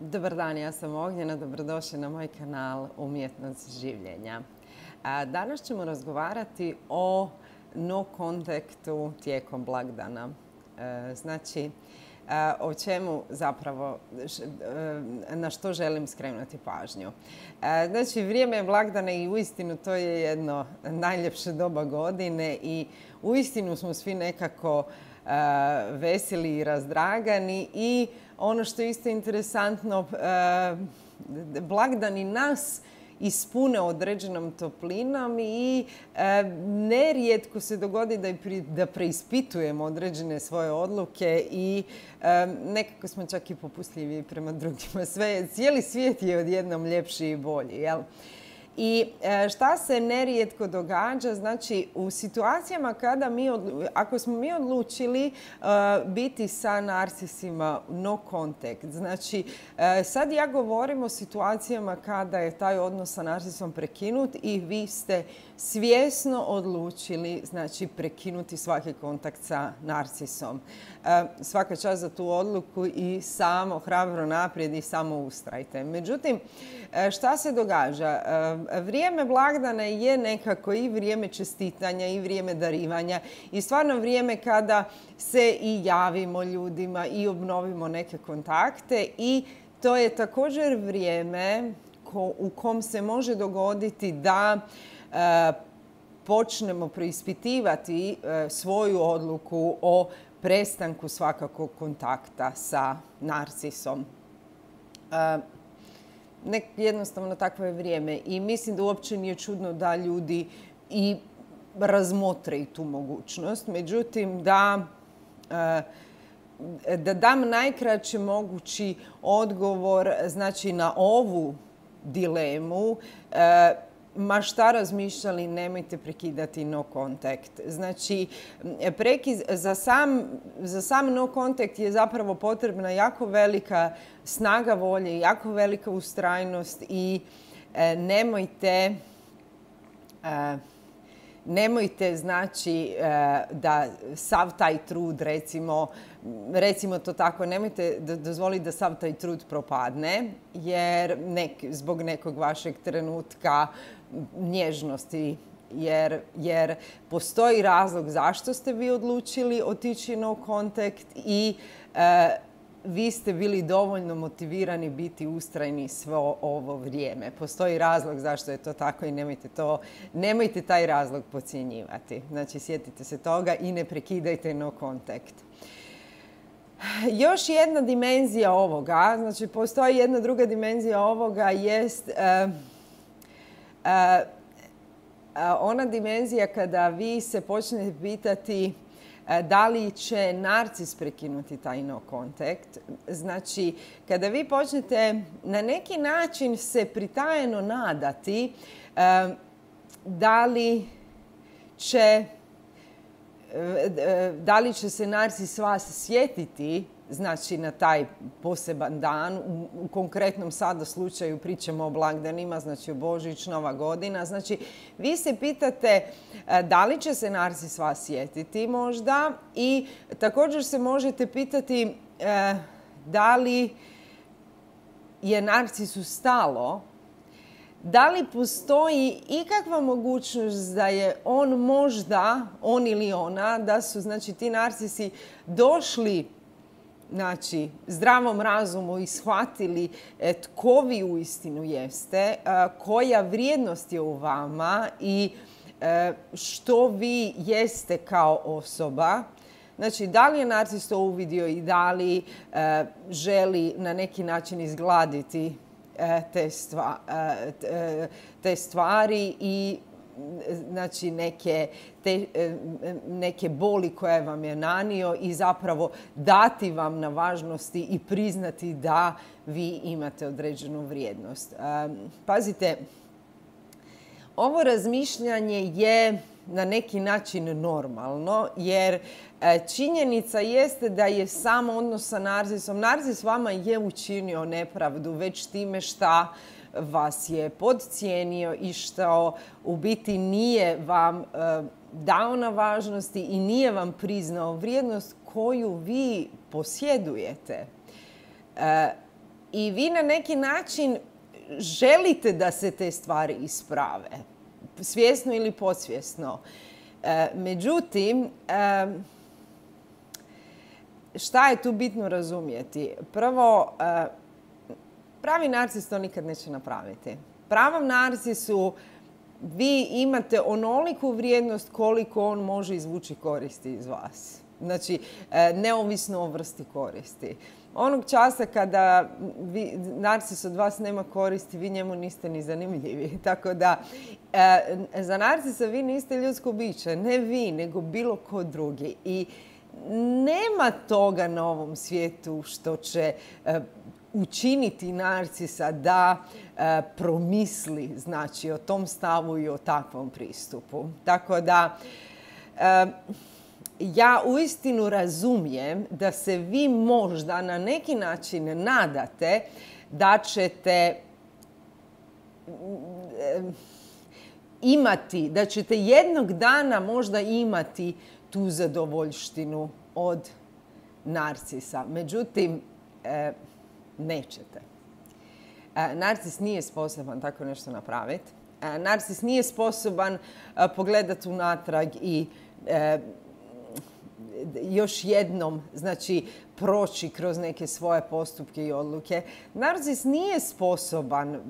Dobar dan, ja sam Ognjena, dobrodošli na moj kanal Umjetnost življenja. Danas ćemo razgovarati o no kontaktu tijekom blagdana. Znači, o čemu zapravo, na što želim skrenuti pažnju. Znači, vrijeme blagdana i uistinu to je jedno najljepše doba godine i uistinu smo svi nekako veseli i razdragani i ono što je isto interesantno, blagdani nas ispune određenom toplinom i nerijetko se dogodi da preispitujemo određene svoje odluke i nekako smo čak i popustljivi prema drugima. Cijeli svijet je odjednom ljepši i bolji, jel? I šta se nerijetko događa, znači u situacijama kada ako smo mi odlučili biti sa narcisima no contact, znači sad ja govorim o situacijama kada je taj odnos sa narcisom prekinut i vi ste svjesno odlučili, znači, prekinuti svaki kontakt sa narcisom. Svaka čast za tu odluku i samo hrabro naprijed i samo ustrajte. Međutim, šta se događa? Vrijeme blagdana je nekako i vrijeme čestitanja i vrijeme darivanja i stvarno vrijeme kada se i javimo ljudima i obnovimo neke kontakte i to je također vrijeme u kom se može dogoditi da počnemo preispitivati svoju odluku o prestanku svakakvog kontakta sa narcisom. Jednostavno takvo je vrijeme i mislim da uopće nije čudno da ljudi i razmotre i tu mogućnost. Međutim, da dam najkraći mogući odgovor, znači, na ovu dilemu, ma šta razmišljali, nemojte prekidati no contact. Znači, za sam no contact je zapravo potrebna jako velika snaga volje, jako velika ustrajnost i nemojte, znači, da sav taj trud, recimo to tako, nemojte dozvoliti da sav taj trud propadne, jer zbog nekog vašeg trenutka nježnosti, jer postoji razlog zašto ste vi odlučili otići no contact i vi ste bili dovoljno motivirani biti ustrajni svo ovo vrijeme. Postoji razlog zašto je to tako i nemojte taj razlog podcjenjivati. Znači, sjetite se toga i ne prekidajte no contact. Još jedna dimenzija ovoga, znači postoji jedna druga dimenzija ovoga, jest ona dimenzija kada vi se počnete pitati da li će narcis prekinuti taj no contact. Znači, kada vi počnete na neki način se pritajeno nadati da li će se narcis vas sjetiti, znači na taj poseban dan, u konkretnom sada slučaju pričamo o blagdanima, znači o Božić, Nova godina. Znači, vi se pitate da li će se narcis vas sjetiti možda i također se možete pitati da li je narcisu stalo, da li postoji ikakva mogućnost da je on ili ona, da su, znači, ti narcisi došli, znači, zdravom razumu i shvatili tko vi uistinu jeste, koja vrijednost je u vama i što vi jeste kao osoba. Znači, da li je narcis to uvidio i da li želi na neki način izgladiti te stvari i, znači, neke boli koje vam je nanio i zapravo dati vam na važnosti i priznati da vi imate određenu vrijednost. Pazite, ovo razmišljanje je na neki način normalno, jer činjenica jeste da je samo odnos sa narcisom. Narcis vama je učinio nepravdu već time šta vas je podcijenio i što u biti nije vam dao na važnosti i nije vam priznao vrijednost koju vi posjedujete. I vi na neki način želite da se te stvari isprave, svjesno ili podsvjesno. Međutim, šta je tu bitno razumjeti? Prvo, pravi narcis to nikad neće napraviti. Pravom narcisu vi imate onoliku vrijednost koliko on može izvući koristi iz vas. Znači, neovisno o vrsti koristi. Onog časa kada narcis od vas nema koristi, vi njemu niste ni zanimljivi. Tako da, za narcisa vi niste ljudsko biće. Ne vi, nego bilo ko drugi. I nema toga na ovom svijetu što će učiniti narcisa da promisli, znači, o tom stavu i o takvom pristupu. Tako da, ja uistinu razumijem da se vi možda na neki način nadate da ćete imati, da ćete jednog dana možda imati tu zadovoljštinu od narcisa. Međutim, nećete. Narcis nije sposoban tako nešto napraviti. Narcis nije sposoban pogledati unatrag i još jednom, znači, proći kroz neke svoje postupke i odluke. Narcis nije sposoban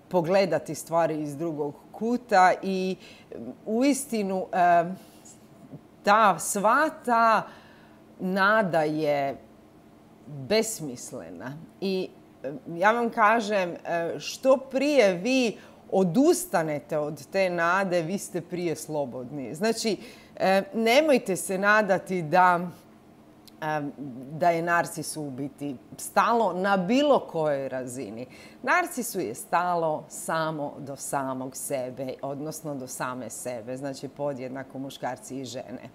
pogledati stvari iz drugog kuta i uistinu sva ta nada je besmislena. I ja vam kažem, što prije vi odustanete od te nade, vi ste prije slobodni. Znači, nemojte se nadati da je narcisu u biti stalo na bilo kojoj razini. Narcisu je stalo samo do samog sebe, odnosno do same sebe. Znači, podjednako muškarci i žene.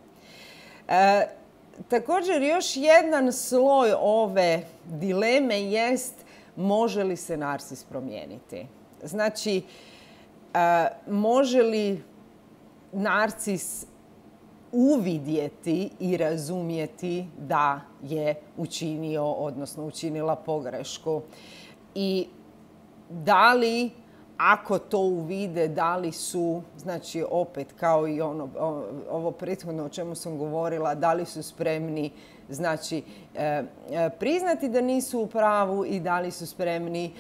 Također, još jedan sloj ove dileme jest može li se narcis promijeniti. Znači, može li narcis uvidjeti i razumjeti da je učinio, odnosno učinila pogrešku. I da li, ako to uvide, da li su, znači opet kao i ovo prethodno o čemu sam govorila, da li su spremni, znači, priznati da nisu u pravu i da li su spremni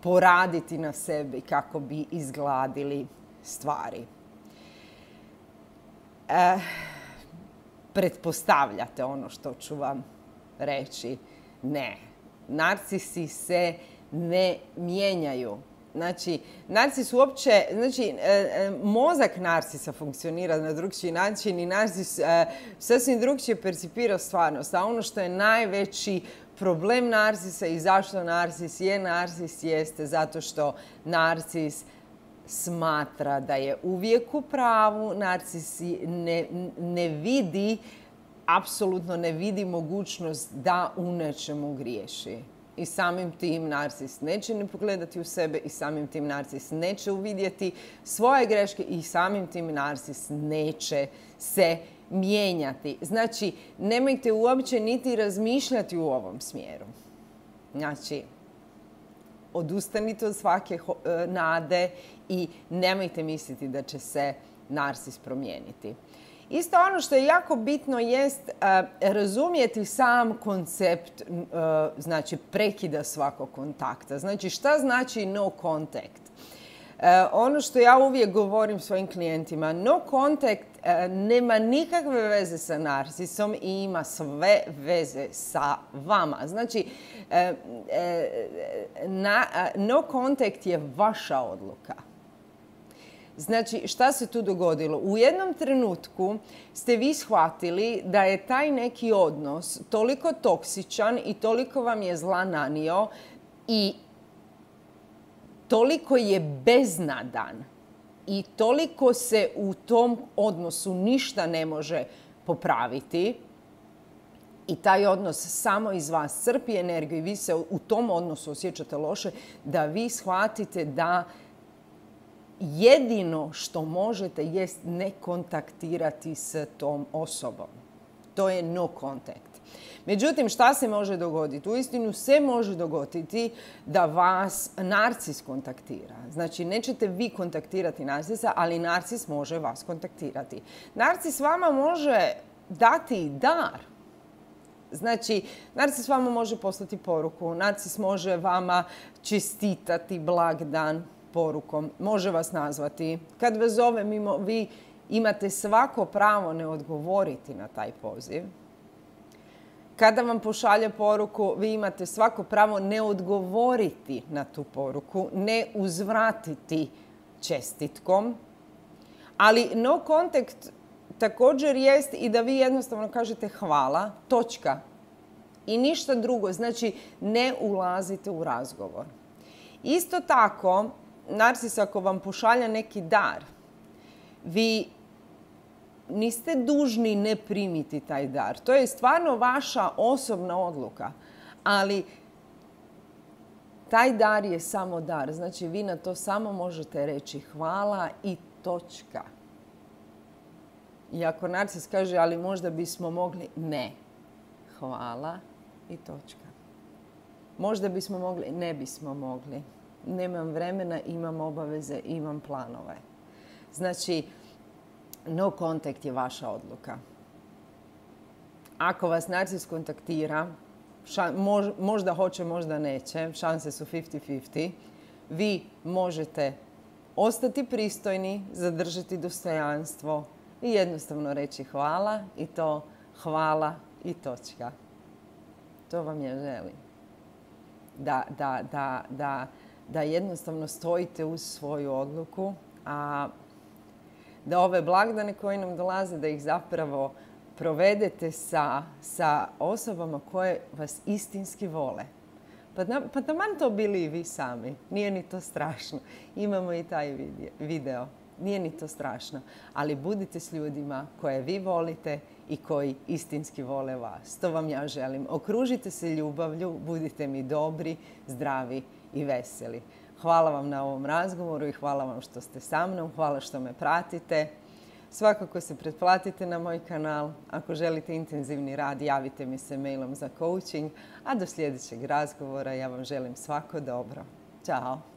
poraditi na sebi kako bi izgladili stvari. Pretpostavljate ono što ću vam reći. Ne. Narcisi se ne mijenjaju. Znači, narcis uopće, znači, mozak narcisa funkcionira na drugčiji način i narcis sasvim drugčije percipira stvarnost. A ono što je najveći problem narcisa i zašto narcis jeste zato što narcis smatra da je uvijek u pravu. Narcis ne vidi, apsolutno ne vidi mogućnost da u nečemu griješi. I samim tim narcis neće ni pogledati u sebe i samim tim narcis neće uvidjeti svoje greške i samim tim narcis neće se mijenjati. Znači, nemojte uopće niti razmišljati u ovom smjeru. Znači, odustanite od svake nade i nemojte misliti da će se narcis promijeniti. Isto ono što je jako bitno jest razumjeti sam koncept, znači, prekida svakog kontakta. Znači, šta znači no contact? Ono što ja uvijek govorim svojim klijentima, no contact nema nikakve veze sa narcisom i ima sve veze sa vama. Znači, no contact je vaša odluka. Znači, šta se tu dogodilo? U jednom trenutku ste vi shvatili da je taj neki odnos toliko toksičan i toliko vam je zla nanio i toliko je beznadan i toliko se u tom odnosu ništa ne može popraviti i taj odnos samo iz vas crpi energiju i vi se u tom odnosu osjećate loše, da vi shvatite da jedino što možete jest ne kontaktirati s tom osobom. To je no contact. Međutim, šta se može dogoditi? Uistinu se može dogoditi da vas narcis kontaktira. Znači, nećete vi kontaktirati narcisa, ali narcis može vas kontaktirati. Narcis vama može dati dar. Znači, narcis vama može poslati poruku, narcis može vama čestitati blagdan porukom, može vas nazvati. Kad vas zove mimo, vi imate svako pravo ne odgovoriti na taj poziv. Kada vam pošalje poruku, vi imate svako pravo ne odgovoriti na tu poruku, ne uzvratiti čestitkom. Ali no contact također jest i da vi jednostavno kažete hvala, točka. I ništa drugo, znači ne ulazite u razgovor. Isto tako, narcis ako vam pošalja neki dar, vi niste dužni ne primiti taj dar. To je stvarno vaša osobna odluka. Ali taj dar je samo dar. Znači vi na to samo možete reći hvala i točka. I ako narcis kaže ali možda bismo mogli, ne. Hvala i točka. Možda bismo mogli, ne bismo mogli. Nemam vremena, imam obaveze, imam planove. Znači, no contact je vaša odluka. Ako vas narcis kontaktira, možda hoće, možda neće, šanse su 50-50, vi možete ostati pristojni, zadržati dostojanstvo i jednostavno reći hvala i to hvala i točka. To vam ja želim. Da jednostavno stojite uz svoju odluku, a da ove blagdane koji nam dolaze, da ih zapravo provedete sa osobama koje vas istinski vole. Pa taman to bili i vi sami. Nije ni to strašno. Imamo i taj video. Nije ni to strašno. Ali budite s ljudima koje vi volite i koji istinski vole vas. To vam ja želim. Okružite se ljubavlju, budite mi dobri, zdravi i veseli. Hvala vam na ovom razgovoru i hvala vam što ste sa mnom. Hvala što me pratite. Svakako se pretplatite na moj kanal. Ako želite intenzivni rad, javite mi se mailom za coaching. A do sljedećeg razgovora ja vam želim svako dobro. Ćao!